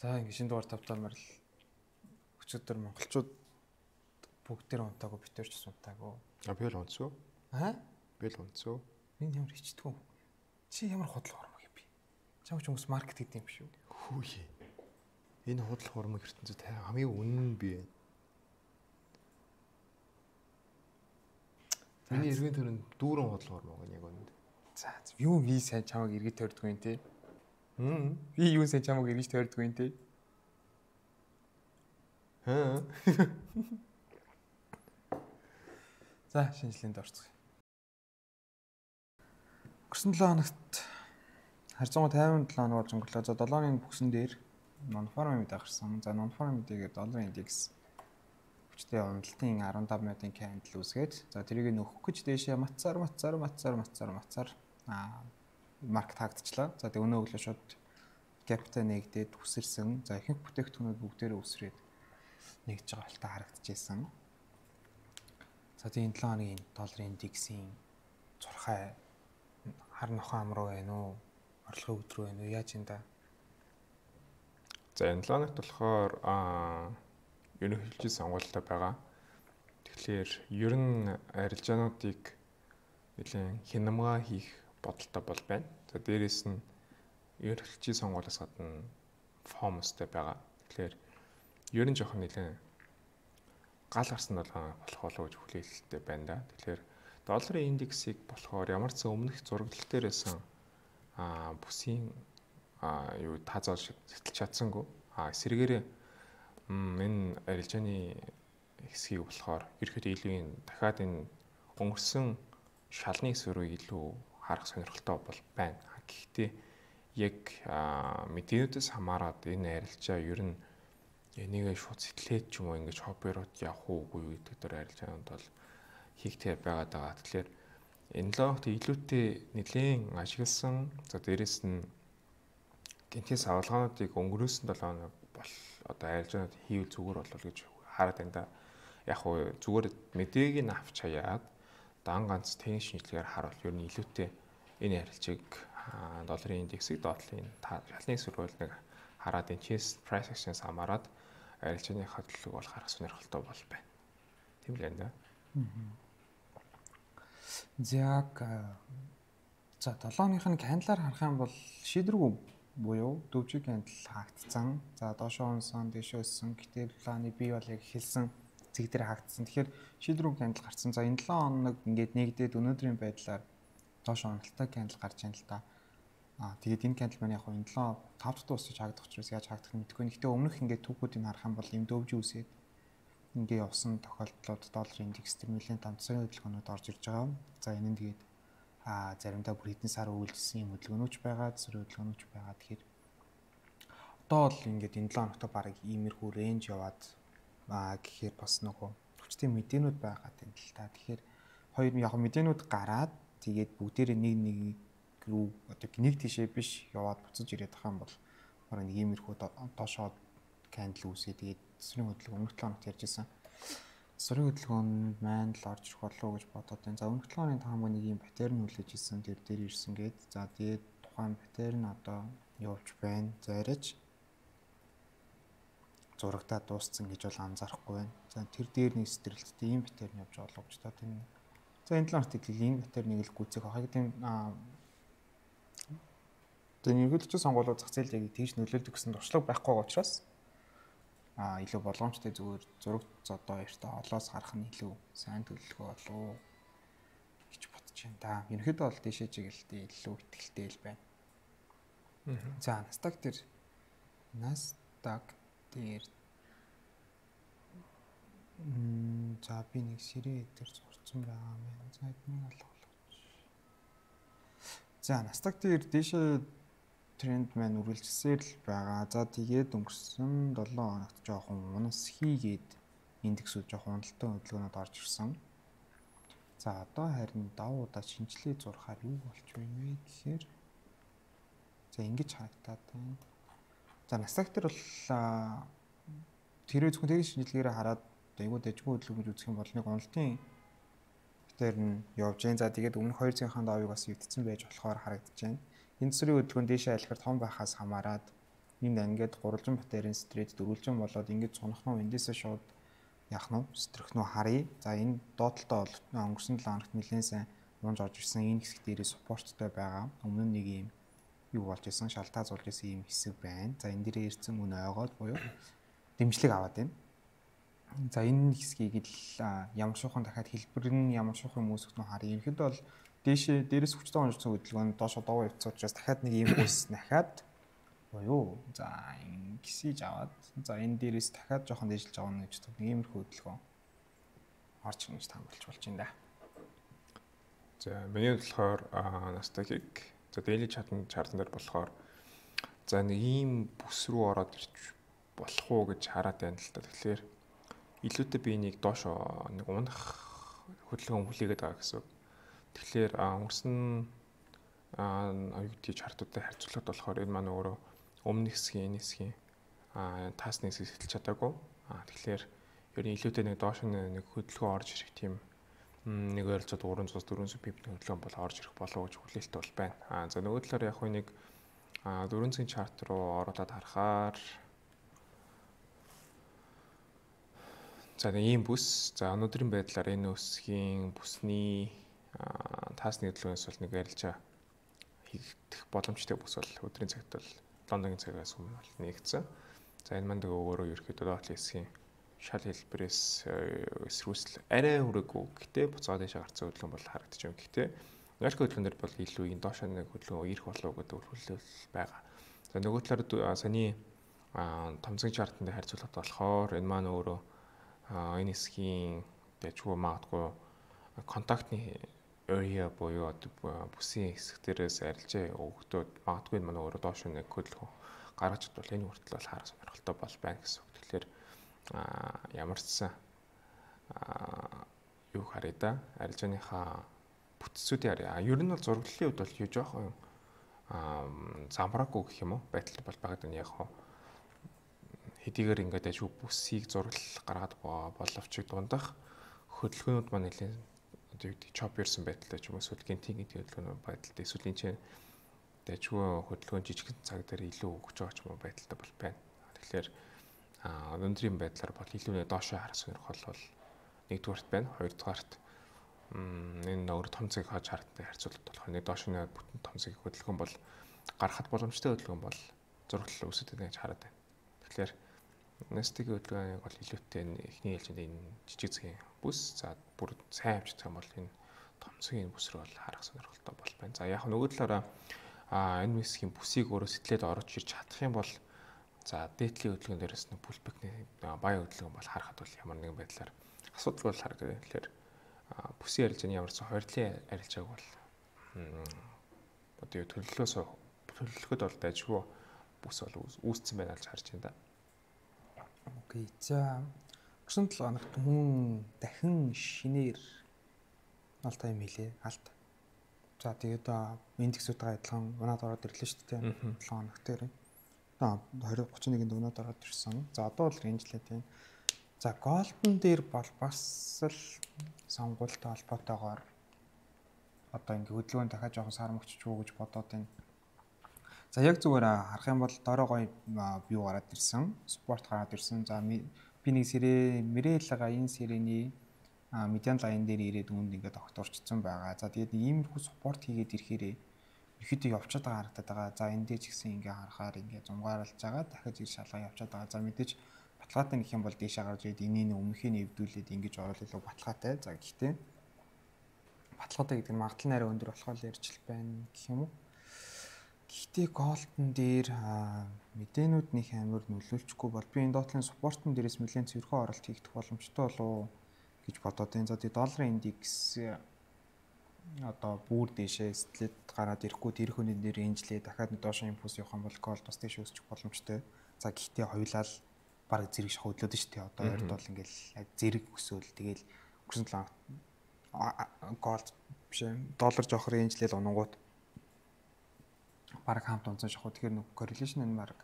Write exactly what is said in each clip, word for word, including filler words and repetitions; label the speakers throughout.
Speaker 1: За ингэ шинэ дугаар тавтаамаар л өчигдөр монголчууд бүгдээр унтаагүй битэрч унтаагүй.
Speaker 2: А би л унтсуу.
Speaker 1: Аа?
Speaker 2: Би л унтсуу.
Speaker 1: Миний ямар хичтгүү. Чи ямар худлаа ормог юм бэ? Чам ч хүмүүс маркет гэдэг юм шүү.
Speaker 2: Хөөе. Энэ худлах ормог ертөнцид хамгийн үнэн нь би байна. Миний эргэн тойронд дүүрэн худлах ормог нь яг үнэнд.
Speaker 1: За юу би сайн чамайг эргэж тойрдгүй юм те. Хм. Би юу сайн чамайг эргэж тойрдгүй юм те.
Speaker 2: Аа.
Speaker 1: За шинжилгээнд орцгоё. Өнгөрсөн долоо хоногт харьцангуй тайван долоо хоног болж өнгөрлөө. За долоо хоногийн бүгсэн дээр нонформ мэд гарсан. За нонформ мэдэгээр долларын индекс хүчтэй уналтын арван таван минутын кандл үүсгээд за тэрийг нөхөх гэж дээшээ мацаар мацаар мацаар мацаар мацаар аа маркет хаагдчихлаа. За тэг өнөө өглөө шууд гапта нэгдээд үсэрсэн. За ихэнх бүтээгдэхүүнүүд бүгдээрээ үсрээд нэгж байгаа болтой харагдчихсан. За тийм долоо хоногийн долларын индексийн зурхай хар нохоо ам руу байна уу? Орлогын өдрөө байна уу? Яаж юм да?
Speaker 2: За энэ долоо хоногт болохоор аа ерөнхийлөгчийн сонгуультай байгаа. Тэгэхээр ер нь арилжаануудыг нэлээд хянамга хийх бодолтой бол байна. За дээрэс нь ерөнхийлөгчийн сонгуулиас гадна фомостой байгаа. Тэгэхээр ер нь жоохон нэлээд гал гарсан долоо болох болов гэж хүлээлттэй байна да. Тэгэхээр долларын индексийг болохоор ямар ч өмнөх зураглал дээрээсэн аа бүсийн аа юу таазал сэтгэлж чадсангүй. Аа эсрэгээрээ энэ арилжааны хэсгийг болохоор ерөөхдөө илүү дахиад энэ өнгөрсөн шалны эсвэрийг илүү харах сонирхолтой бол байна. Гэхдээ яг мэдээлүүдээс хамаарат энэ арилжаа ер нь энийг шууд сэтгэлээд ч юм уу ингэж хоббирууд явах уугүй гэдэг дээр арилжаанд бол хийгтэй байгаад байгаа. Тэгэхээр энэ логт илүүтэй нэлээд ашигласан. За дээрэс нь гинтээс авалгаануудыг өнгөрөөсөн долоо хоног бол одоо арилжаанууд хийвэл зүгээр болов гэж хараад байна да. Яг хуу зүгээр мэдээг нь авч хаяад дан ганц техник шинжилгээр харуул ер нь илүүтэй энэ арилжааг долларын индексийг доотлын шалны эсвэргүүл нэг хараад энэ chess price action-с хамаарат арилжааны хадлыг бол харах сонирхолтой бол байна. Тийм л байна да.
Speaker 1: Яг за долоо хоногийн кандалаар харах юм бол шийдвэргүй буюу дөвжиг кандал хаагдсан. За доошоо унсан, дэшөө өссөн. Гэтэл планы бий бол яг хэлсэн зэг дээр хаагдсан. Тэгэхээр шийдвэргүй кандал гарсан. За энэ долоо хоног ингээд нэгдээд өнөөдрийн байдлаар доошоо уналттай кандал гарч байна л да. Аа тэгээд энэ кандал маань яг энэ долоо тав дахь дуусч хаагдах учраас яаж хаагдах нь мэдэхгүй. Гэхдээ өмнөх ингээд түүхүүдийг харах юм бол юм дөвж үсээд ингээд явсан тохиолдлууд долларын индекс төр нэлээд томцооны хөдөлгөөнүүд орж ирж байгаа. За энэ нь тэгээд а заримдаа бүр хэдэн сар үйлдэлсэн юм хөдөлгөөнүүч байгаа, зэрэг хөдөлгөөнүүч байгаа. Тэгэхээр одоо л ингээд энэ долоо хоногт баг иймэрхүү рейнж яваад аа гэхээр бас нөгөө хүчтэй мэдээнүүд байгаа юм л та. Тэгэхээр хоёр яг мэдээнүүд гараад тэгээд бүгдээрээ нэг нэг рүү одоо нэг тишээ биш яваад буцаж ирээд байгаа юм бол бараг нэг иймэрхүү доошоо кандл үүсээ тэгээд эсрэг хөдөлгөөн өмнөх долоо хоногт ярьжсэн. Эсрэг хөдөлгөөнд маань л орж ирэх болов уу гэж бодоод байна. За өмнөх долоо хоногийн таамаг нэг юм батарей нь хүлээж ирсэн тэр дээр ирсэн гээд за тэгээд тухайн батарей нь одоо явж байна. За арайч зурагтаа дууссан гэж бол анзаарахгүй байна. За тэр дээр нэг стрэлттэй ийм батарей нь явж байгаа боловч та тийм. За энэ долоо хоногт ийм батарей нэг л гүцэх ахыг тийм аа тэр нэгэлж сонгуулиуд зах зээл яг тийш нөлөөлдөг гэсэн туршлага байхгүй байгаа учраас а илүү болгоомжтой зүгээр зураг зодоо ярьтаа олоос харах нь илүү сайн төлөвлөгөө болов гэж бодож байна да. Ерөнхийдөө бол дэшээ чиглэлтэй илүү ихтэй л байна. За Nasdaq дээр Nasdaq дээр м за би нэг сэрээ дээр зурцсан байгаа юм. За эднийг алгуулж. За Nasdaq дээр дэшээ тренд маань үргэлжсээр л байгаа. За тэгээд өнгөрсөн долоо хоногт жоохон унас хийгээд индексүүд жоохон уналттай хөдөлгөөнөд орж ирсэн. За одоо харин давуу удаа шинжилгээ зурхаар юу болч байна вэ гэхээр за ингэж харагдаад байна. За Nasdaq дээр бол тэрөө зөвхөн техник шинжилгээрээ хараад айгуу дэжгүй хөдөлгөөн гэж үзэх юм бол нэг уналтын дээр нь явж байна. За тэгээд өмнөх хоёр цагийн давыг бас өвдсөн байж болохоор харагдаж байна. Энэ цэцрийн хөдөлгөөн дээшээ алихаар том байхаас хамаарат энд ингээд гурвалжин батарейн стрейт дөрвөлжин болоод ингээд цунхнуу эндээсээ шууд яах нь стрэх нь харъя. За энэ доотлолтой бол өнгөрсөн долоо хоногт нэлээд сайн унж орж ирсэн энэ хэсэг дээрээ суппорттой байгаа. Өмнө нь нэг юм юу болж исэн шалтгаан зулж исэн юм хэсэг байна. За энэ дээрээ ирсэн үнэ ойгоод буюу дэмжлэг аваад байна. За энэ хэсгийг л ямар шуухан дахиад хэлбэр нь ямар шуухан юм үүсгэх нь харъя. Ерөнхийдөө бол дээшээ дээрээс хүчтэй онцсон хөдөлгөөн доош доо явцсан учраас дахиад нэг юм үүс дахиад буюу за ингэсэж аваад за энэ дээрээс дахиад жоохон дээшлж авах нь гэж нэг иймэрхүү хөдөлгөөн орж ирнэ гэж таамаглаж болж байна да.
Speaker 2: За миний болохоор Nasdaq-ийг за daily chart-ын chart дээр болохоор за нэг ийм бүс рүү ороод ирж болох уу гэж хараад байна л да. Тэгэхээр илүүтэй би нэг доош нэг унах хөдөлгөөн хүлээгээд байгаа гэсэн. Тэгэхээр өнгөрсөн аа оюутны чартуудтай харьцуулахад болохоор энэ маань өөрөө өмнө хэсгийн энэ хэсгийн аа таасны хэсгийг хэлж чадаагүй. Аа тэгэхээр ер нь илүүтэй нэг доош нэг хөдөлгөөн орж ирэх тийм нэг ойролцоог дөрвөн дөрвөн пипний хөдөлгөөн бол орж ирэх болов гэж хүлээлттэй бол байна. Аа за нөгөө талаар яг нэг дөрвөн цагийн чарт руу ороод харахаар за нэг ийм бүс за өнөөдрийн байдлаар энэ өсгийн бүсний таасны хөдөлгөөнөөс бол нэг арилжаа хийгдэх боломжтой бүс бол өдрийн цагт бол Лондонгийн цагаас өмнө бол нэгдсэн. За энэ манд өөрөө ерөөхдөө доотлын хэсгийн шал хэлбэрээс эсрүүсэл арай хүрээгүй. Гэхдээ буцаад дэше гарцсан хөдөлгөөн бол харагдаж байна. Гэхдээ Нью-Йорк хөдөлгөөндөр бол илүү энэ доош нэг хөдөлгөөн ирэх болов гэдэг хүлээлт байгаа. За нөгөө талаар саний томцгийн чартанд харьцуулахад болохоор энэ маань өөрөө энэ хэсгийн дэжгүй магадгүй контактны area буюу бүсийн хэсэг дээрээс арилжаа өгдөөд магадгүй энэ манай өөрөө доош нэг хөдөлгөөн гаргаж идвэл энэ хүртэл бол харах сонирхолтой бол байна гэсэн үг. Тэгэхээр ямар ч сан юу харъя да арилжааныхаа бүтцүүдийн харъя. Ер нь бол зураглалын хувьд бол юу жоохон замбраагүй гэх юм уу байдал бол багт нь яг хоо хэдийгээр ингээд ажиг бүсийг зураглал гаргаад боловч дундах хөдөлгөөнүүд маань нэлээд одоо юу гэдэг чопперсэн байдалтай ч юм уу эсвэл гинтийн гэдэг хөдөлгөөн байдалтай эсвэл энэ чинь дажгүй хөдөлгөөн жижигхэн цаг дээр илүү өгч байгаа ч юм уу байдалтай бол байна. Тэгэхээр өнөөдрийн байдлаар бол илүү нэ доошоо харах сонирхол бол нэгдүгээрт байна. Хоёрдугаарт энэ өөр том цаг хаж харттай харьцуулбал болох нэг доошны бүтэн том цаг хөдөлгөөн бол гарахад боломжтой хөдөлгөөн бол зураглал үүсэт гэж хараад байна. Тэгэхээр Nasdaq-ийн хөдөлгөөнийг бол илүүтэй эхний ээлжинд энэ жижиг цагийн бүс за бүр сайн авчдаг юм бол энэ том цагийн бүс рүү бол харах сонирхолтой бол байна. За яг нөгөө талаараа а энэ хэсгийн бүсийг өөрөө сэтлээд орж ирж чадах юм бол за дээдлийн хөдөлгөөн дээрээс нэг pullback-ний бая хөдөлгөөн бол харахад бол ямар нэгэн байдлаар асуудал бол харагдав. Тэгэхээр бүсийн арилжааны ямар ч хоёрлын арилжааг бол одоо төлөвлөлөөс төлөвлөхөд бол дайггүй бүс бол үүссэн байна гэж харж байна да.
Speaker 1: Окей. За өнгөрсөн долоо хоногт хүн дахин шинээр алт юм хэлээ алт. За тэгээд индексүүдтэй адилхан унаад ороод ирлээ шүү дээ. долоо хоног дээр. Одоо двадцать тридцать однд унаад ороод ирсэн. За одоо бол рейнжлээ тийм. За голден дээр бол бас л сонгуультай холбоотойгоор одоо ингээ хөдөлгөөн дахиад жоохон сармөгчч үү гэж бодоод байна. За яг зүгээр харах юм бол доороо гоё бью гараад ирсэн. Спорт гараад ирсэн. За би нэг сэрээ Мэрэлага энэ сэрэний медиан лайн дээр ирээд үүнд ингээд огторчсон байгаа. За тэгээд иймэрхүү спорт хийгээд ирэхээр ихэд явчаад байгаа харагдаад байгаа. За энэ дээр ч гэсэн ингээ харахаар ингээ зумгаарлаж байгаа. Дахиж ир шалгаа явчаад байгаа. За мэдээж баталгаатай нөх юм бол дээшээ гарч ирээд энийг өмнөхийг нэвдүүлээд ингэж орол илүү баталгаатай. За гэхдээ баталгаатай гэдэг нь магадлал нэрээ өндөр болохоор л ярьж л байна гэх юм уу. Гэхдээ голден дээр мэдээнүүд нэг амар нөлөөлчихгүй бол би энэ доотлын спортын дээрээс нэлээд цэвэрхэн оролт хийх боломжтой болов гэж бодоод байна. За тэгээд долларын индекс одоо бүр дээшээ сэтлээд гараад ирэхгүй тэр хүний дээр рейнжлээ дахиад доошо импульс явах юм бол голд бас дээш өсчих боломжтой. За гэхдээ хоёулаа л баг зэрэг шах хөдлөөд шүү дээ. Одоо хоёрд бол ингээл зэрэг өсөөл тэгэл өнгөрсөн талаа голд биш доллар жоох рейнжлээл унгууд баг хамт унцсан шахуу. Тэгэхээр нэг correlation нь баг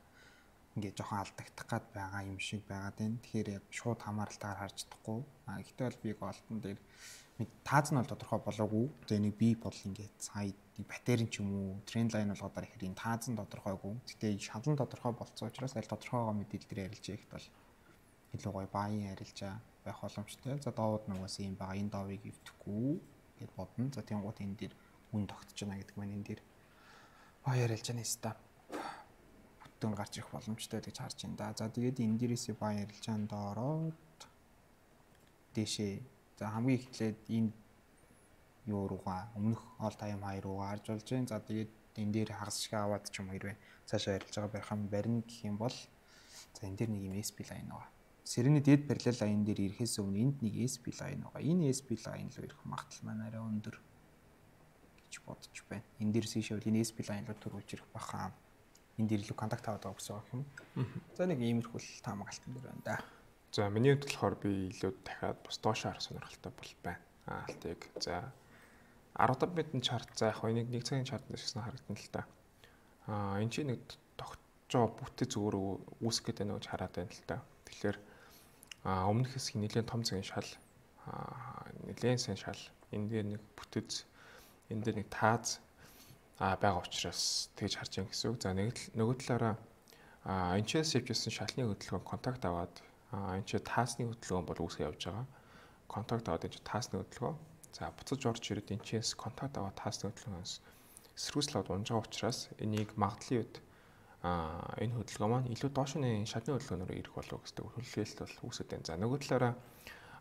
Speaker 1: ингээд жоохон алдагдах гад байгаа юм шиг байгаад байна. Тэгэхээр яг шууд хамааралтайгаар харж чадахгүй. А гэхдээ бол би голдон дээр тааз нь бол тодорхой болоогүй. За энийг би бодол ингээд сая батарей ч юм уу, тренд лайн болгоод ихээр энэ тааз нь тодорхойгүй. Гэтэ шалан тодорхой болцсон учраас аль тодорхойгоо мэдээлэл дээр ярилж яхад бол илүү гоё бааян ярилжаа байх боломжтой. За доовод нугаас юм байгаа. Энэ доовыг эвдэхгүй гэд бодно. За тэнгуут энэ дээр үн тогтож байна гэдэг маань энэ дээр баа ярилж байгаа нэстэ. Бүтэн гарч ирэх боломжтой гэж харж байна да. За тэгээд энэ дээрээсээ баа ярилж байгаа доороод дэшээ. За хамгийн эхлээд энэ юу руугаа өмнөх all time high руугаа харж болж байна. За тэгээд энэ дээр хагас шиг аваад ч юм хэрвээ цаашаа ярилж байгаа байх юм барина гэх юм бол за энэ дээр нэг юм эс пи лайн байгаа. Сэрний дээд параллел лайн дээр ирэхээс өмнө энд нэг эс пи лайн байгаа. Энэ эс пи лайн руу ирэх магадлал маань арай өндөр гэж бодож байна. Энэ дээр сишэл энэ эс пи лайн руу төрүүлж ирэх баха. Энд дээр илүү контакт аваад байгаа гэсэн үг юм. За нэг иймэрхүү таамаглалтан дээр байна да.
Speaker 2: За миний хувьд болохоор би илүү дахиад бас доошоо харах сонирхолтой бол байна. Аалтыг. За арван минутын чарт за яг нэг нэг цагийн чарт нэсгсэн харагдана л та. Аа энэ чинь нэг тогтцоо бүтэц өөрөө үүсгэх гэдэг нэг хараад байна л та. Тэгэхээр аа өмнөх хэсгийн нэлээд том цагийн шал аа нэлээд сайн шал энэ дээр нэг бүтэц энэ дээр нэг тааз аа байгаа учраас тэгж харж байгаа гэсэн үг. За нэг нөгөө талаараа аа энэчээс явжсэн шалны хөдөлгөөн контакт аваад аа энэ чи таасны хөдөлгөөн бол үүсгэж явж байгаа. Контакт аваад энэ чи таасны хөдөлгөөн. За буцаж орж ирээд энэчээс контакт аваад таасны хөдөлгөөнөөс эсрүүслээд унж байгаа учраас энийг магадлалын үед аа энэ хөдөлгөөн маань илүү доошны шатны хөдөлгөөнөөр ирэх болов гэдэг хүлээлт бол үүсэж байна. За нөгөө талаараа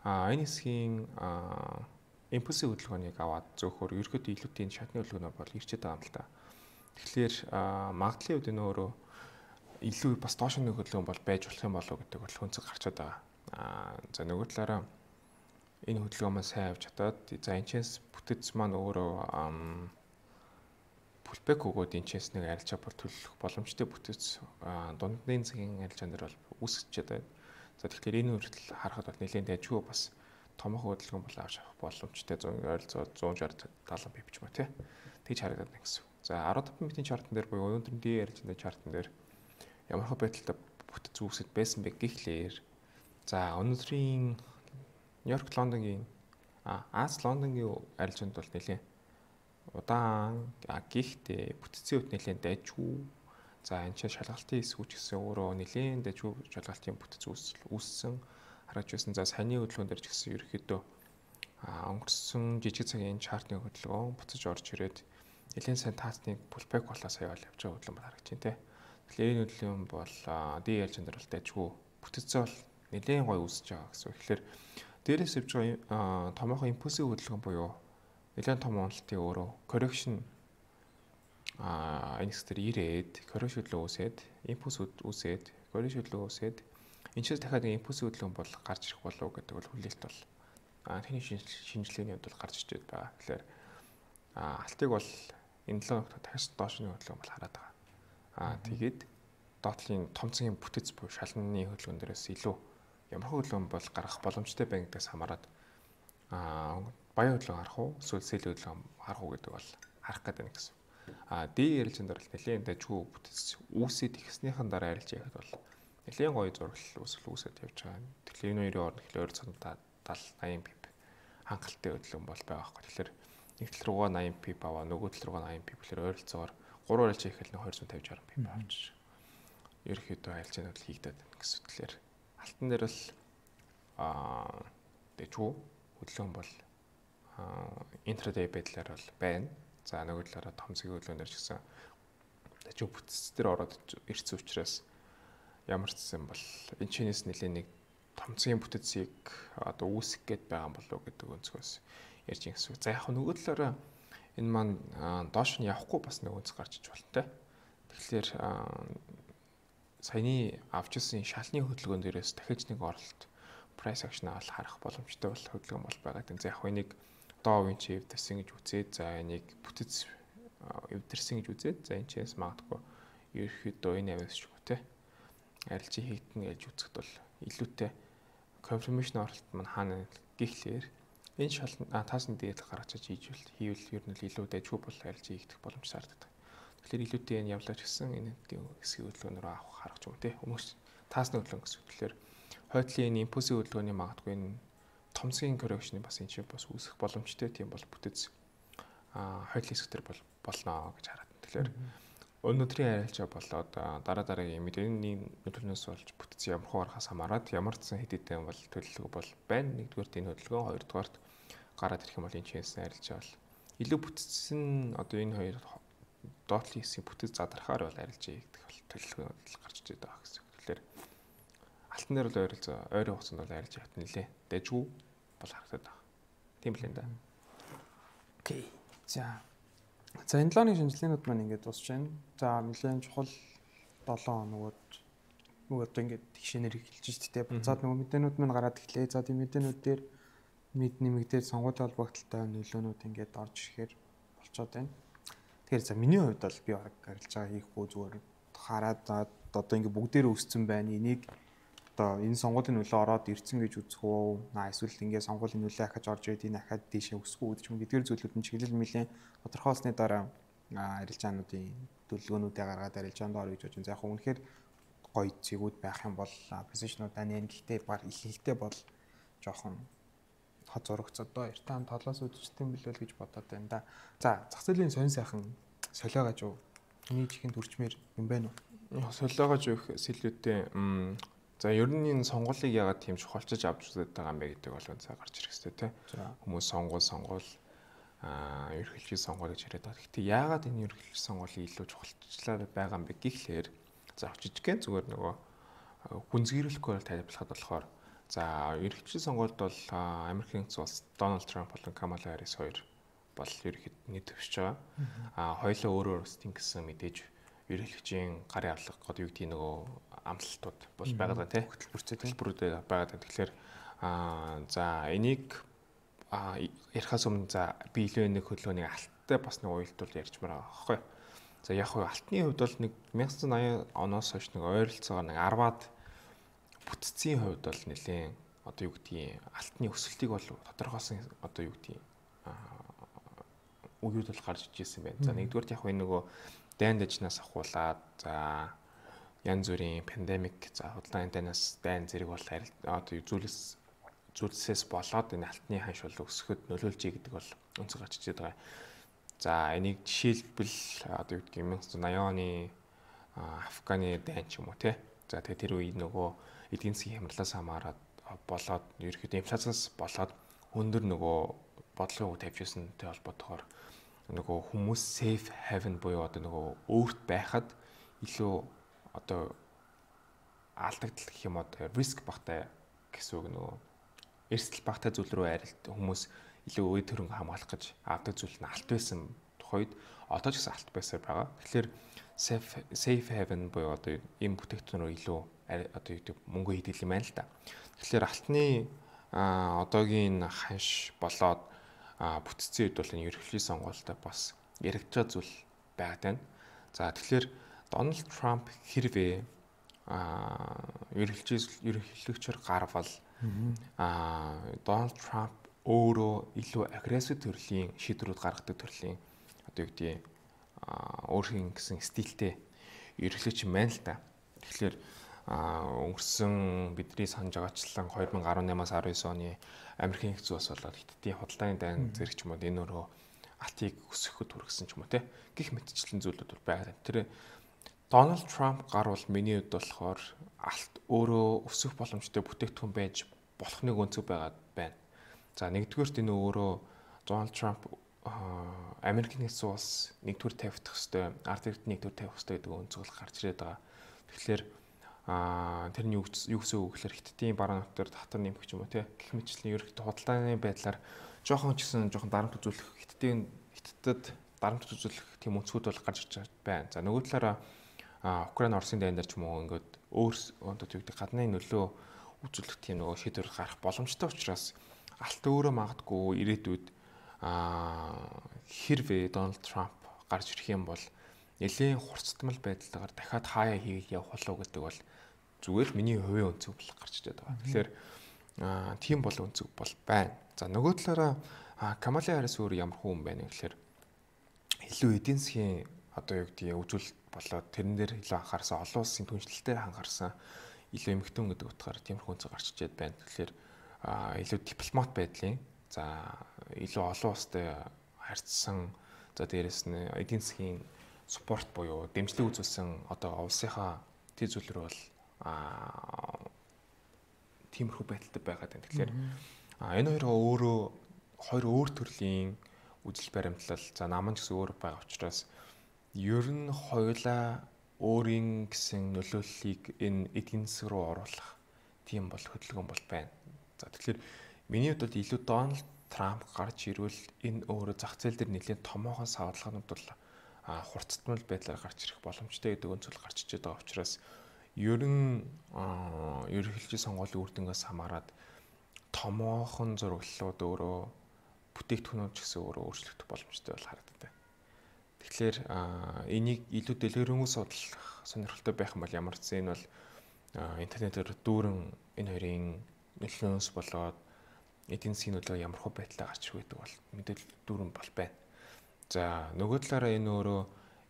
Speaker 2: аа энэ хэсгийн аа импульсийн хөдөлгөөнийг аваад зөөхөр ерөөдөө илүүтэй шатны хөдөлгөөнөөр бол ирчээд байгаа юм л та. Тэгэхээр магадлалын үед энэ өөрөө илүү бас доошны хөдөлгөөн бол байж болох юм болов гэдэг бол хүнцэг гарчаад байгаа. Аа за нөгөө талаараа энэ хөдөлгөөн маань сайн авч чадаад за энэчээс бүтэц маань өөрөө пулбэк өгөөд энэчээс нэг арилжаа бүр төлөх боломжтой бүтэц дундын цагийн арилжаан дээр бол үүсгэж байна. За тэгэхээр энэ хүртэл харахад бол нэлээд дайггүй бас томоохон хөдөлгөөн бол авч авах боломжтой ойролцоо зуун шарт даалгавар бивч мө тий. Тэгж харагдаад байна гэсэн. За арван минутын чартан дээр буюу өнөөдрийн ди арилжааны чартан дээр ямар хөө байдалтай бүтэц үүсгэж байсан бэ гэхлээр за өнөөдрийн Нью-Йорк, Лондонгийн а Аз Лондонгийн арилжаанд бол нэлээд удаан гихтээ бүтцийн хувьд нэлээд дайггүй. За энэ чинь шалгалтын хэсгүүч гэсэн өөрөө нэлээд дайггүй шалгалтын бүтц үүссэн харагдж байсан. За саяны хөдөлгөөн дээр ч гэсэн ерөөхдөө өнгөрсөн жижиг цагийн чартны хөдөлгөөн буцаж орж ирээд нэлээд сайн таасны пулбэк болоо сая бол явж байгаа хөдөлгөөн бол харагдаж байна те. Тэгэхээр энэ хөдөлгөөн бол ди арилжаан дээр бол дайггүй бүтцээ бол нэлээд гоё үүсэж байгаа гэсэн. Тэгэхээр дээрээс явж байгаа томоохон импульсийн хөдөлгөөн буюу нэлээд том уналтын өөрөө correction а энэ хэсгээр ирээд correction хөдөлгөөн үүсээд импульс үүсээд correction хөдөлгөөн үүсээд энэчээс дахиад нэг импульс хөдөлгөөн бол гарч ирэх болов гэдэг бол хүлээлт бол а тэний шинжилгээний хувьд бол гарч ирж байгаа. Тэгэхээр а алтыг бол энэ л дахиад доошны хөдөлгөөн бол хараад байгаа. А тэгээд доотлын том цагийн бүтэц буюу шалны хөдөлгөөн дээрээс илүү ямар хөдөлгөөн бол гарах боломжтой байна гэдгээс хамаарат аа баян хөдөлгөөн харах уу эсвэл сэл хөдөлгөөн харах уу гэдэг бол харах гэдэг байна гэсэн. Аа ди арилжаан дээр бол нэлээд дайггүй бүтэц үүсээд ихснийхэн дараа арилж яхад бол нэлээд гоё зураглал үүсэл үүсээд явж байгаа. Тэгэхээр энэ хоёрын хооронд ихлээр ойролцоогоо даал eighty пип хангалттай хөдөлгөөн бол байгаа байхгүй. Тэгэхээр нэг тал руугаа eighty пип аваа нөгөө тал руугаа eighty пип гэхээр ойролцоогоор гурван арилж яхад нэг two fifty sixty пип авч ерөөхдөө арилжаанууд л хийгдээд байна гэсэн. Тэгэхээр алтан дээр л аа дэжгүй хөдөлгөөн бол интрадей байдлаар бол байна. За нөгөө талаараа том цагийн хөдөлгөөнөр ч гэсэн дэжгүй бүтц дээр ороод ирсэн учраас ямар ч юм бол энэ чинээс нэлээд нэг том цагийн бүтцийг одоо үүсгэх гээд байгаа юм болов гэдэг өнцгөөс ярьж ингэсэн. За яг нөгөө талаараа энэ маань доош нь явахгүй бас нэг өнцг гарч иж болно те. Тэгэхээр саяны авч ирсэн шалны хөдөлгөөн дээрээс дахиж нэг оролт price action авал харах боломжтой бол хөдөлгөөн бол байгаа гэдэг. За яг нэг доовын чи эвдэрсэн гэж үзээд за энийг бүтэц эвдэрсэн гэж үзээд за энэ чээс магадгүй ерөөхдөө энэ авьяас ч үгүй те арилжаа хийгдэн гэж үзэхэд бол илүүтэй confirmation оролт маань хаана гэхлээр энэ шал таасны дээд гаргаж хийж хийвэл ер нь илүү дайггүй бол арилжаа хийгдэх боломж сарддаг. Тэгэхээр илүүтэй энэ явлаач гэсэн энэ хэсгийн хөдөлгөөнөөр авах харах юм те. Өмнөс таасны хөдөлгөөн гэсэн. Тэгэхээр хойдлын энэ импульсийн хөдөлгөөний магадгүй энэ томсгийн коррекшны бас энэ чинь бас үүсэх боломжтой тийм бол бүтэц а хоёулын хэсгээр бол болно гэж хараад. Тэгэхээр өнөөдрийн арилжаа болоод дараа дараагийн мэдээний нөлөөлнөөс болж бүтц ямар хугаарахаас хамаарат ямар ч сан хэд хэдэн бол төлөвлөгөө бол байна. Нэгдүгээр энэ хөдөлгөөн, хоёрдугаарт гараад ирэх юм бол энэ чинсэн арилжаа бол илүү бүтцэн одоо энэ хоёр доотлын хэсгийн бүтэц задрахаар бол арилжаа хийгдэх бол төлөвлөгөө гарч ирээд байгаа гэсэн. Тэгэхээр алтан дээр бол ойрол ойрын хугацаанд бол арилжаа хат нэлээ дэжгүй бол харагдаад байгаа. Тийм л энэ да.
Speaker 1: Окей. За. За энэ лооны шинжилгээнүүд маань ингээд дуусч байна. За нэлээд чухал долоон хоногуд нөгөө одоо ингээд тэгшэнээр эхэлж шүү дээ. Буцаад нөгөө мэдээнүүд маань гараад ирлээ. За тийм мэдээнүүд дээр мэд нэмэгдээд сонгуулийн холбогдлолтой нөлөөнүүд ингээд орж ирэхээр болцоод байна. Тэгэхээр за миний хувьд бол би баг арилжаа хийхгүй зүгээр хараад одоо ингээд бүгдээр өссөн байна. Энийг одоо энэ сонгуулийн нөлөө ороод ирцэн гэж үзэх үү? Аа эсвэл ингээд сонгуулийн нөлөө ахаж орж ирээд энэ ахаад дээшээ өсөх үү гэдэг юм гэдгээр зүйлүүд нь чиглэл мөлийн тодорхойлсны дараа арилжаануудын төлөвлөгөөнүүдээ гаргаад арилжаанд орё гэж бодож. За яг үнэхээр гоё зэгүүд байх юм бол позишнуудаа нэн гэхдээ баг их ихтэй бол жоохон хот зурагцад доо эртээ хам толоос үдчихдээ билүүл гэж бодоод байна да. За зах зээлийн сонь сайхан солиогооч юу? Миний чихэнд хүрчмээр юм байна уу?
Speaker 2: Солиогооч юу сэлүүдтэй за ер нь энэ сонгуулийг яагаад тийм чухалчиж авч үзээд байгаа юм бэ гэдэг бол үнцээ гарч ирэх хэрэгтэй тий. Хүмүүс сонгуул сонгуул аа ерөнхийлөгчийн сонгуул гэж яриад байгаа. Гэхдээ яагаад энэ ерөнхийлөгчийн сонгуулийн илүү чухалчлаад байгаа юм бэ гэхлээр за жижигхэн зүгээр нөгөө гүнзгийрүүлэхгүй бол тайлбарлахад болохоор за ерөнхийлөгчийн сонгуульд бол Америкийн улс Дональд Трамп болон Камала Харрис хоёр бол ерөнхийд нийт төвшиж байгаа. Аа хоёулаа өөрөө өөрсдөө тэнгисэн мэдээж ерөнхийлөгчийн гарын авлага гэдэг юу гэдгийг нөгөө амлалтууд бол байгаа тий. Хөтөлбөртэй төлбөрүүдээ байгаа. Тэгэхээр аа за энийг а ярихаас өмнө за би илүү нэг хөдөлгөөнийг алттай бас нэг уялдуул ярьчмаар байгаа байхгүй. За яг хөө алтны хувьд бол нэг найман аян оноос хойш нэг ойролцоогоор нэг арваад бүтцийн хувьд бол нэлээд одоо юу гэдгийг алтны өсөлтийг бол тодорхойлсон одоо юу гэдгийг үеуд бол гарч ижсэн байна. За нэгдүгээр яг энэ нөгөө дайн дажнаас ахуулаад за янз бүрийн пандемик за худалдааны дайнаас дайн зэрэг бол одоо зүйлс зүйлсээс болоод энэ алтны ханш бол өсөхөд нөлөөлж ий гэдэг бол өнцөг гарч ижээд байгаа. За энийг жишээлбэл одоо юу гэдгийг найман оны Афганы дайн ч юм уу тий. За тэгээ тэр үед нөгөө эдийн засгийн хямралаас хамаарат болоод ерөөхдөө инфляцаас болоод өндөр нөгөө бодлогын үг тавьж ирсэнтэй холбоотойгоор нөгөө хүмүүс safe haven буюу одоо нөгөө өөрт байхад илүү одоо алдагдал гэх юм одоо риск багтай гэсэн үг нөгөө эрсдэл багтай зүйл рүү арилт хүмүүс илүү үе төрөнг хамгаалах гэж авдаг зүйл нь алт байсан тухайд одоо ч гэсэн алт байсаар байгаа. Тэгэхээр safe safe haven буюу одоо ийм бүтээгдэхүүнээр илүү одоо юу гэдэг мөнгө хийдэг юм байна л да. Тэгэхээр алтны одоогийн ханш болоод бүтцийн үед бол энэ ерөнхийлөгчийн сонгуультай бас яригдж байгаа зүйл байгаад байна. За тэгэхээр Дональд Трамп хэрвээ ерөнхийлөгч ерөнхийлөгчөөр гарвал аа Дональд Трамп өөрөө илүү агрессив төрлийн шийдвэрүүд гаргадаг төрлийн одоо юу гэдэг өөрхийн гэсэн стилтэй ерөнхийлөгч юм байна л да. Тэгэхээр өнгөрсөн бидний санаж байгаачлан две тысячи десять наймаас десять оны Америкийн хэв зүйс болоод Хятадын худалдааны дайн зэрэг ч юм уу энэ өөрөө алтыг өсгөхөд хүргэсэн ч юм уу те гих мэтчлэн зүйлүүд бол байгаа. Тэр Дональд Трамп гарвал миний хувьд болохоор алт өөрөө өсөх боломжтой бүтээгдэхүүн байж болохныг өнцөг байгаад байна. За нэгдүгээрт энэ өөрөө Дональд Трамп Америкийн хэв зүйс нэгдүгээр тавьдах хэвээр ард иргэд нэгдүгээр тавих хэвээр гэдэг өнцөг бол гарч ирээд байгаа. Тэгэхээр аа тэрний юу гэсэн үг гэхээр Хятадын баруун нутгаар татвар нэмэх юм уу те гэх мэтчлэн ерөнхийдөө худалдааны байдлаар жоохон ч гэсэн жоохон дарамт үзүүлэх Хятадын Хятадд дарамт үзүүлэх тийм өнцгүүд бол гарч ирж байна. За нөгөө талаараа Украин Оросын дайн дээр ч юм уу ингээд өөр одоо юу гэдэг гадны нөлөө үзүүлэх тийм нөгөө шийдвэр гарах боломжтой учраас алт өөрөө магадгүй ирээдүйд аа хэрвээ Дональд Трамп гарч ирэх юм бол нэлээд хурцтмал байдлаар дахиад хаяа хийгээд явах болов гэдэг бол зүгээр миний хувийн өнцөг бол гарч ирээд байгаа. Тэгэхээр тийм бол өнцөг бол байна. За нөгөө талаараа Камала Харрис өөр ямар хүн байна вэ гэхээр илүү эдийн засгийн одоо юу гэдгийг үзүүлэлт болоод тэрэн дээр илүү анхаарсан, олон улсын түншлэлтэй анхаарсан илүү эмэгтэй хүн гэдэг утгаараа тиймэрхүү өнцөг гарч ирээд байна. Тэгэхээр а илүү дипломат байдлын за илүү олон улстай харьцсан за дээрэс нь эдийн засгийн спорт буюу дэмжлэг үзүүлсэн одоо улсынхаа тэр зүйлрүү бол а тиймэрхүү байдалтай байгаад байна. Тэгэхээр энэ хоёр өөрөө хоёр өөр төрлийн үжил баримтлал за наман ч гэсэн өөр байгаа учраас ер нь хоёулаа өөрийн гэсэн нөлөөллийг энэ эдийн засаг руу оруулах тийм бол хөдөлгөөн бол байна. За тэгэхээр миний хувьд бол илүү Дональд Трамп гарч ирвэл энэ өөрөө зах зээл дээр нэлээд томоохон савлгаанууд бол хурцтмал байдлаар гарч ирэх боломжтой гэдэг өнцгөл гарч иж байгаа учраас ер нь ерөнхийлөгчийн сонгуулийн үр дүнгээс хамаарат томоохон зураглалууд өөрөө бүтээгдэхүүнүүд ч гэсэн өөрөө өөрчлөгдөх боломжтой бол харагддаг. Тэгэхээр энийг илүү дэлгэрэнгүй судлах сонирхолтой байх юм бол ямар ч зэн бол интернетээр дүүрэн энэ хоёрын нөлөөнөөс болоод эдийн засгийн нөлөө ямар хөө байдлаар гарч ирэх гэдэг бол мэдээлэл дүүрэн бол байна. За нөгөө талаараа энэ өөрөө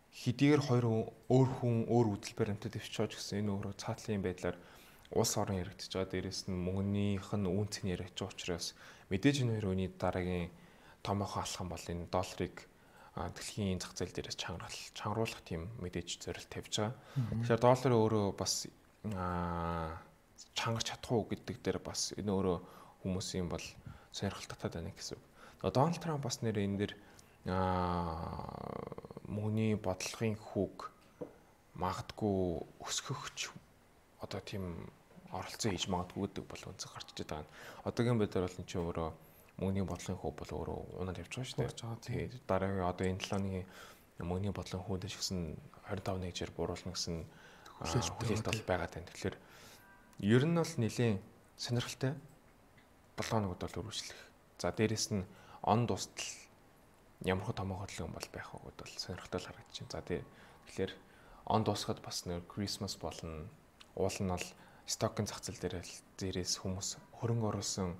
Speaker 2: хэдийгээр хоёр өөр хүн өөр үйл баримтад өвчөөж гэсэн энэ өөрөө цаатлын байдлаар улс орон яригдчихэж байгаа. Дээрээс нь мөнгөнийх нь үн цэн яригдчих учраас мэдээж энэ хоёр үний дараагийн томоохон алхам бол энэ долларыг дэлхийн зах зээл дээрээс чангаруул чангаруулах тийм мэдээж зорилт тавьж байгаа. Тэгэхээр доллар өөрөө бас чангарч чадах уу гэдэг дээр бас энэ өөрөө хүмүүсийн бол сонирхол татаад байна гэсэн үг. Дональд Трамп бас нэр энэ дэр мөнгөний бодлогын хүүг магадгүй өсгөхч одоо тийм оролцоо хийж магадгүй гэдэг бол үнцэг гарч иж байгаа. Одоогийн байдлаар бол энэ чинь өөрөө мөнгөний бодлогын хүү бол өөрөө унаад явж байгаа шүү дээ. Тэгээд дараагийн одоо энэ талааны мөнгөний бодлогын хүүд шигсэн двадцать пять нэгжээр буруулна гэсэн хүлээлт бол байгаа тань. Тэгэхээр ер нь бол нэлийн сонирхолтой болгоонууд бол үргэлжлэх. За дээрэс нь он дуустал ямар хөө томоо хөдөлгөөн бол байх вэ гэдэл сонирхолтой харагдаж байна. За тэгэхээр он дуусахад бас нэр Christmas болно. Уул нь бол стокын зах зээл дээр зээрээс хүмүүс хөрөнгө оруулсан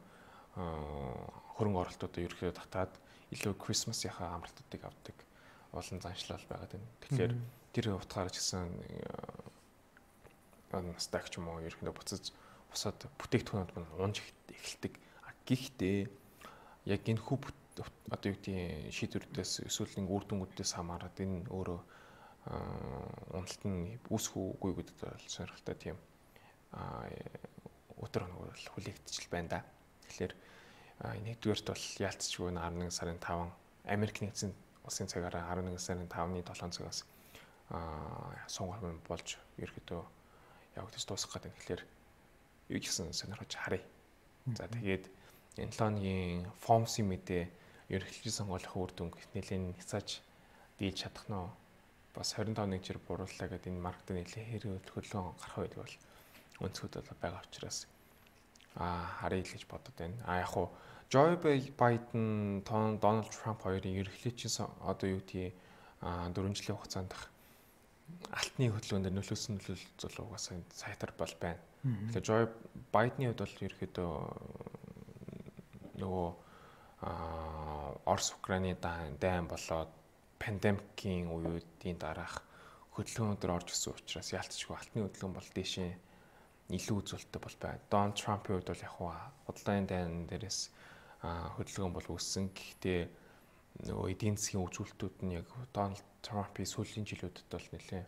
Speaker 2: хөрөнгө оруулалтуудаа ерөөхдөө татаад илүү Christmas-ийнхаа амралтуудыг авдаг олон заншлал байгаад байна. Тэгэхээр тэр утгаараа ч гэсэн стак ч юм уу ерөөхдөө буцаж бусад бүтээгдэхүүнүүд мань унж эхэлдэг. Гэхдээ яг энэ хүү одоо юу гэдгийг шийдвэрдээс эсвэл нэг үр дүнгуудээс хамаарат энэ өөрөө уналт нь үүсэх үгүй гэдэг бол сонирхолтой тийм өдөр хоног бол хүлээгдчихэл байна да. Тэгэхээр нэгдүгээрт бол яалтчгүй нь арван нэг сарын таван Америк нэгдсэн улсын цагаараа арван нэг сарын тавны долоон цагаас сонгуул болж ерөөдөө явагдаж дуусах гэдэг. Тэгэхээр юу гэсэн сонирхож харъя. За тэгээд энэ лооны фомси мэдээ ерөнхийлөгчийн сонгуулийн үр дүнг нэлээд няцааж дийлж чадах нь бас двадцать пять нэгжээр бурууллаа гэдэг энэ маркет нэлээд хэрэг хөдөлгөөн гарах үед бол өнцгүүд бол байгаа учраас а харъя л гэж бодод байна. А яг хуу Joe Biden, Donald Trump хоёрын ерөнхийлөгчийн одоо юу гэдгийг дөрвөн жилийн хугацаанд алтны хөдөлгөөн дээр нөлөөсөн нөлөөлөл угаасаа сайтар бол байна. Тэгэхээр Joe Biden-ийн хувьд бол ерөөхдөө нөгөө Орос Украины дайн болоод пандемикийн үеүүдийн дараах хөдөлгөөнөөр орж ирсэн учраас яалтчгүй алтны хөдөлгөөн бол дээшээ илүү үзүүлэлттэй бол байна. Дональд Трампын хувьд бол яг худалдааны дайн дээрээс хөдөлгөөн бол үүссэн. Гэхдээ нөгөө эдийн засгийн үзүүлэлтүүд нь яг Дональд Трампын сүүлийн жилүүдэд бол нэлээд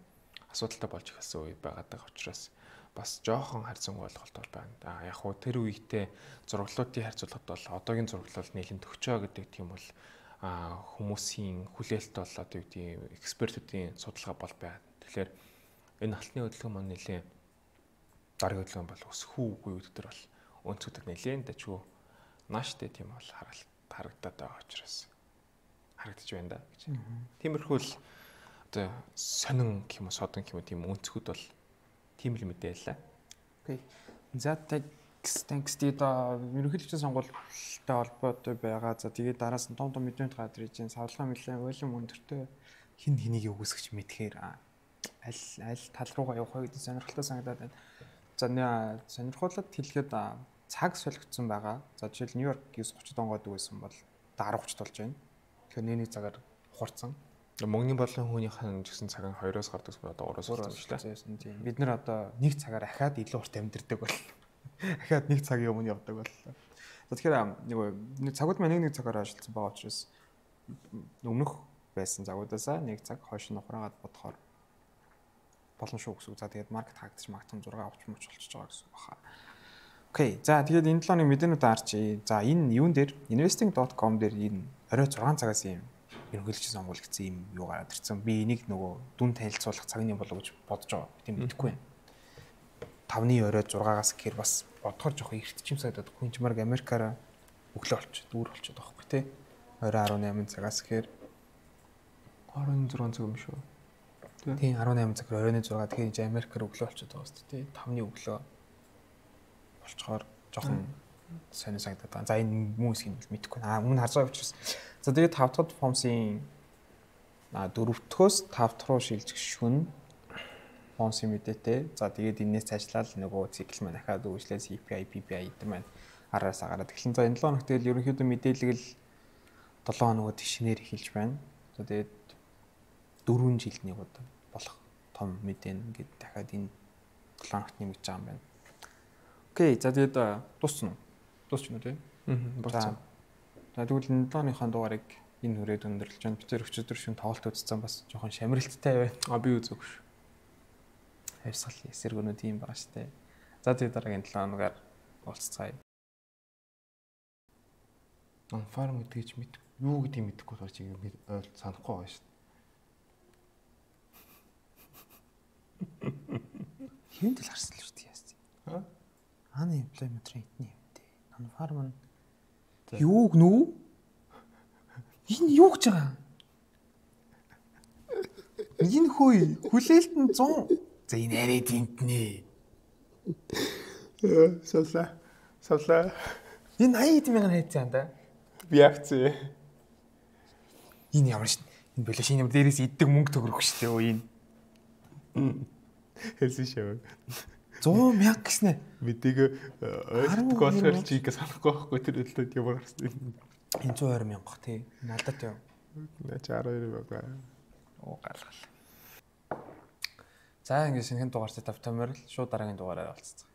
Speaker 2: асуудалтай болж эхэлсэн үе байгаад байгаа учраас бас жоохон харьцангуй ойлголт бол байна. А яг хуу тэр үеийнхтэй зураглалуудын харьцуулахад бол одоогийн зураглал нэлээд төгчөө гэдэг тийм бол хүмүүсийн хүлээлт бол одоо юу гэдэг экспертүүдийн судалгаа бол байна. Тэгэхээр энэ алтны хөдөлгөөн маань нэлээд дараагийн хөдөлгөөн бол өсөх үгүй гэдэг төр бол өнцгүүдэд нэлээд дажгүй нааштай тийм бол харагдаад байгаа учраас харагдаж байна да гэж. Тиймэрхүү л одоо сонин гэх юм уу содон гэх юм уу тийм өнцгүүд бол тийм л мэдээлээ.
Speaker 1: Окей. За текст текст доо ерөнхийлөгчийн сонгуультай холбоотой байгаа. За тэгээд дараас нь том том мэдээлэл гадар ижин савлгаа мэлээ уйлан өндөртөө хин хэнийг өгөөсгч мэдхээр аль аль тал руугаа явах вэ гэдэг сонирхолтой санагдаад байна. За нэ сонирхолтой хэлэхэд цаг солигдсон байгаа. За жишээл Нью-Йорк девять тридцать онгоод байсан бол дөрөв тридцать болж байна. Тэгэхээр нэний цагаар ухарсан.
Speaker 2: Мөнгөний бодлогын хүнийхэн гэсэн цаг нь двоёроос гардаг бол одоо гураас болсон шүү
Speaker 1: дээ. Бид нар одоо нэг цагаар ахаад илүү урт амьдэрдэг бол ахаад нэг цагийн өмнө явдаг бол. За тэгэхээр нэг нэг цагууд маань нэг нэг цагаар ажилласан байгаа учраас өмнөх байсан цагуудаасаа нэг цаг хойш нь ухраагаад бодохоор болно шүү гэсэн үг. За тэгээд маркет хаагдчих магтан зураг авч мууч болчихж байгаа гэсэн үг баха. Окей. За тэгээд энэ талын мэдээнүүд харчи. За энэ юун дээр investing dot com дээр энэ орой зургаан цагаас юм ерөнхийлөгчийн сонгуул гэсэн юм юу гараад ирсэн. Би энийг нөгөө дүн танилцуулах цагны болов гэж бодож байгаа. Тийм мэдэхгүй байна. тавны орой зургаагаас гэхээр бас бодохоор жоох эртчим сайдад хүнчмарг Америкаараа өглөө болчиход дүүр болчиход байгаа байхгүй тий. Орой арван найман цагаас гэхээр
Speaker 2: арван зургаан цаг юм шүү.
Speaker 1: Тийм арван найман цаг оройн зураг тэгэхээр Америкаар өглөө болчиход байгаа шүү тий. тавны өглөө болчоор жоохон сонир санагдаад байгаа. За энэ хүмүүсийг бол мэдэхгүй. Аа өмнө харж байгаа учраас. За тэгээд тав дахь фомсын а дөрөвдөхөөс тав дахь руу шилжих шүн фомсын мэдээтэй. За тэгээд энэс цаашлаад нөгөө цикл маань дахиад үргэлжлээ си пи ай, пи пи ай гэдэг маань араас агараад эхлэн. За энэ долоо хоног тэгэл ерөнхийдөө мэдээлэл л долоо хоногод шинээр эхэлж байна. За тэгээд дөрвөн жилд нэг удаа болох том мэдээ ингээд дахиад энэ долоо хоногт нэмэгдэж байгаа юм байна. Окей, за тэгээд дуусна уу? Дуусна уу тий?
Speaker 2: Аа, дуусна.
Speaker 1: За тэгвэл энэ долооныхон дугаарыг энэ хүрээд өндөрлөж байна. Би тэр өчигдөр шин тоглолт үзсэн бас жоохон шамралттай байна.
Speaker 2: А би үзээгүй шүү.
Speaker 1: Хайрсгал эсэргүүнүүд юм байгаа штэ. За тэгээд дараагийн долоо хоногаар уулзцаая.
Speaker 2: Ан фарм гэдгийг ч мэд юу гэдгийг мэдэхгүй болохоор чи ингэ ойл санахгүй байгаа шүү.
Speaker 1: Хэвэн тэл харсан л шүү дээ яасан.
Speaker 2: Аа?
Speaker 1: Unemployment rate нь юм дээ. Ан фарм нь юу гэнүү? Энэ юу гэж байгаа? Энэ хөөе хүлээлт нь сто. За энэ арай дэмтнэ.
Speaker 2: Яа, савла. Савла.
Speaker 1: Энэ хаяад мянган хайцсан да.
Speaker 2: Би акцээ.
Speaker 1: Энэ ямар шин. Энэ болоо шинэ юм дээрээс иддэг мөнгө төгрөх штэ өө энэ.
Speaker 2: Хэлсэн шээ.
Speaker 1: сто мянга гэснэ.
Speaker 2: Мэдээг ойлгох болохоор чи ингэ санахгүй байхгүй тэр төлөвд ямар гарсан.
Speaker 1: Энэ сто двадцать мянга тий. Надад яа.
Speaker 2: Наач арван хоёр байгаа.
Speaker 1: Оо галгал. За ингэ шинэхэн дугаартай тавтамаар л шууд дараагийн дугаараар олцсон.